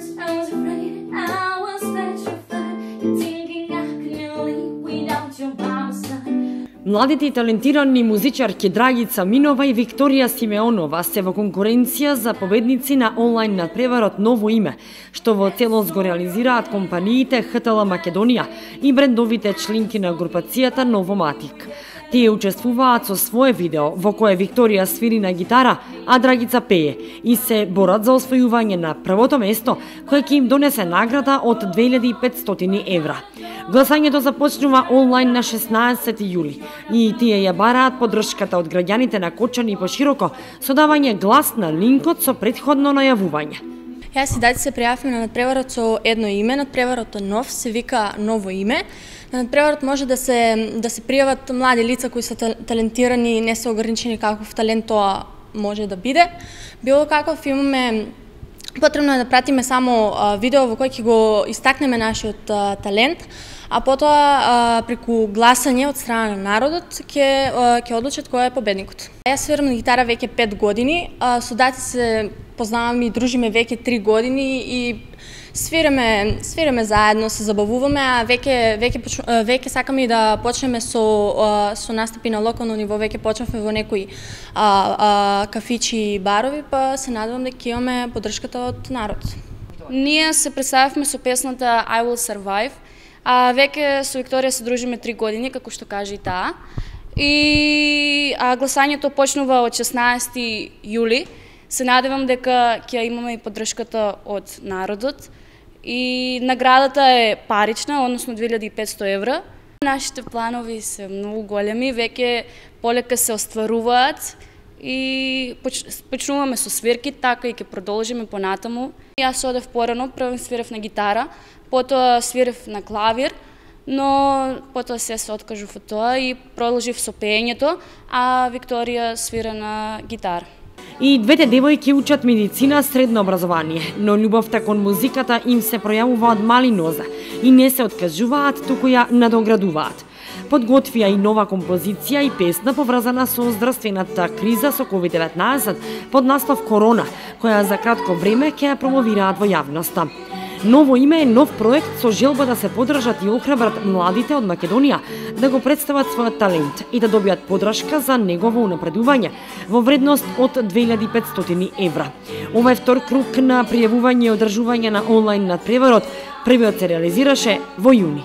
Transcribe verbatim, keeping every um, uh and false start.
words, I was afraid, I was petrified. You're thinking I couldn't live without your by my side. Младите и талентирани музичарки Драгица Минова и Викторија Симеонова се во конкуренција за победници на онлайн надпреварот Ново име, што во целост го реализираат компаниите Х Т Л Македонија и брендовите членки на групацијата Новоматик. Тие учествуваат со свое видео во кое Викторија свири на гитара, а Драгица пее и се борат за освојување на првото место, кое ќе им донесе награда од две илјади и петстотини евра. Гласањето започнува онлайн на шеснаесети јули и тие ја бараат поддршката од граѓаните на Кочани и пошироко со давање глас на линкот со претходно најавување. Јас и Дајци се пријавивме на надпреварот со едно име, надпреварот е нов, се вика Ново име. На надпреварот може да се да се пријават млади лица кои се талентирани и не се ограничени каков талент тоа може да биде. Било каков имаме потребно е да пратиме само видео во кој ќе го истакнеме нашиот талент, а потоа преку гласање од страна на народот ќе ќе одлучат кој е победникот. Јас свирам на гитара веќе пет години, со Дајци се познаваме и дружиме веќе три години и свиреме свиреме заедно, се забавуваме, а веќе веќе веќе сакаме и да почнеме со со настапи на локално ниво, веќе почнавме во некои а, а, кафичи и барови, па се надевам дека имаме поддршката од народот. Ние се представивме со песната I Will Survive, а веќе со Викторија се дружиме три години, како што кажа и таа. И а, гласањето почнува од шеснаесети јули. Се надевам дека ќе имаме и поддршката од народот. И наградата е парична, односно две илјади и петсто евра. Нашите планови се многу големи, веќе полека се остваруваат и почнуваме со свирки, така и ќе продолжиме понатаму. Јас одев порано, прво свирев на гитара, потоа свирев на клавир, но потоа се се откажав од тоа и продолжив со пеењето, а Викторија свира на гитара. И двете девојки учат медицина средно образование, но љубовта кон музиката им се пројавува од мали нозе и не се откажуваат, туку ја надоградуваат. Подготвија и нова композиција и песна поврзана со здравствената криза со ковид деветнаесет под наслов Корона, која за кратко време ќе ја промовираат во јавноста. Ново име е нов проект со желба да се поддржат и охрабрат младите од Македонија да го представат својот талент и да добијат поддршка за негово унапредување во вредност од две илјади и петстотини евра. Ова е втор круг на пријавување и одржување на онлайн надпреварот. Првиот се реализираше во јуни.